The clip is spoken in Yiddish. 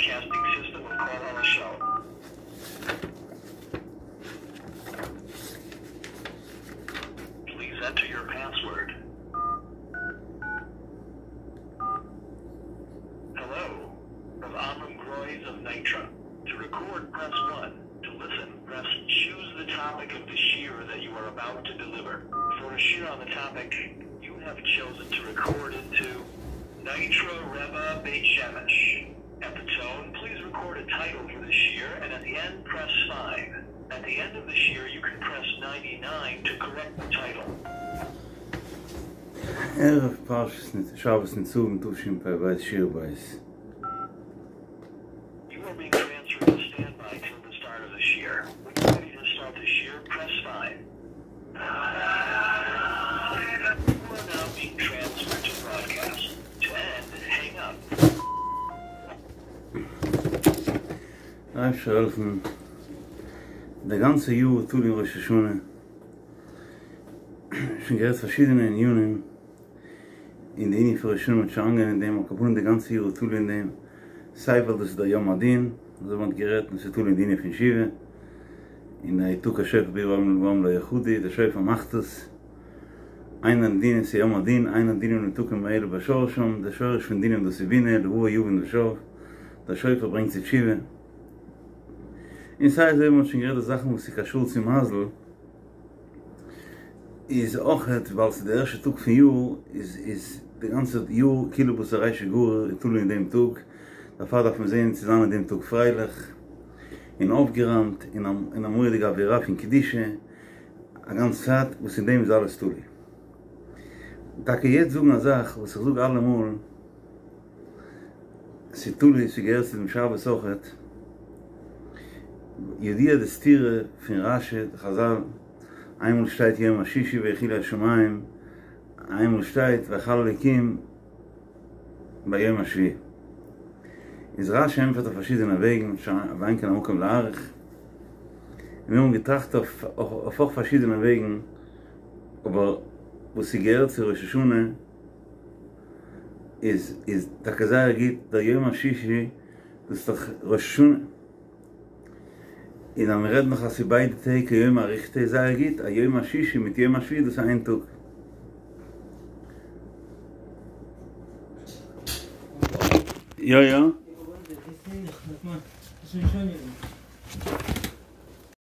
broadcasting system of Kol Halashon. Please enter your password. Hello, from Amram Groys of Nitra. To record, press 1. To listen, press choose the topic of the shiur that you are about to deliver. For a shiur on the topic, you have chosen to record into Nitra Rebbe Beit Shemesh. At the tone, please record a title for the shiur, and at the end, press 5. At the end of the shiur, you can press 99 to correct the title. ערב פרשת שבת נצבים תשפ"ב שיעור בית. You are being transferred to standby till the start of the shiur. When you're ready to start the shiur, press 5. You are now being transferred to broadcast. To end, hang up. דער אייבערשטער זאל העלפן די גאנצע יאר תלוי אין ראש השנה, שוין גערעדט פארשידענע ענינים אין די ענין פון ראש השנה מ'האט שוין אנגעהויבן אין דעם, על כל פנים די גאנצע יאר תלוי אין דעם, סיי ווייל דאס איז דער יום הדין, אזוי ווי מ'האט גערעדט, און ס'איז תלוי אין די ענין פון תשובה, און יתקע שופר בעיר והעם לא יחרדו, דער שופר מאכט עס, אין הדין ס'איז יום הדין, אין הדינים נמתקים אלא בשורשם, דער שורש פון דינים דאס איז בינה, לבבו יבין ושב, דער שופר ברענגט צו תשובה. און סיי אזוי ווי מ'האט שוין גערעדט די זאכן וואס איז קשור צו מזל, איז אויכעט ווייל ס'איז די ערשטע טאג פון יאר, איז איז די גאנצע יאר כאילו בתר רישא גריר איז תלוי אין דעם טאג, דערפאר דארף מען זען צו זיין אין דעם טאג פרייליך און אויפגעראמט און אין א מורא'דיגע אווירה פון קדושה א גאנצע צייט, וואס אין דעם איז אלעס תלוי. טאקע יעצט זאגן א זאך וואס איך זאג אלעמאל. ס'איז תלוי, ס'געהערט צו דעם שבת אויכעט. ידוע די סתירה פון רש"י די חזל, איינמאל שטייט יום השישי ויכולו השמים, איינמאל שטייט ויכל אלוקים ביום השביעי. איז רש"י ענטפערט אויף פארשידענע וועגן, ואין כאן המקום להאריך. און מיר האבן געטראכט אויף אויך פארשידענע וועגן, אבער וואס ס'געהערט צו ראש השנה, איז איז טאקע זייער גוט דער יום השישי דאס איז דאך ראש השנה און אז מען רעדט נאך אז ס'איז ביידע טעג כיומא אריכתא איז זייער גוט א יום השישי מיט יום השביעי דאס איז איין טאג. יא יא.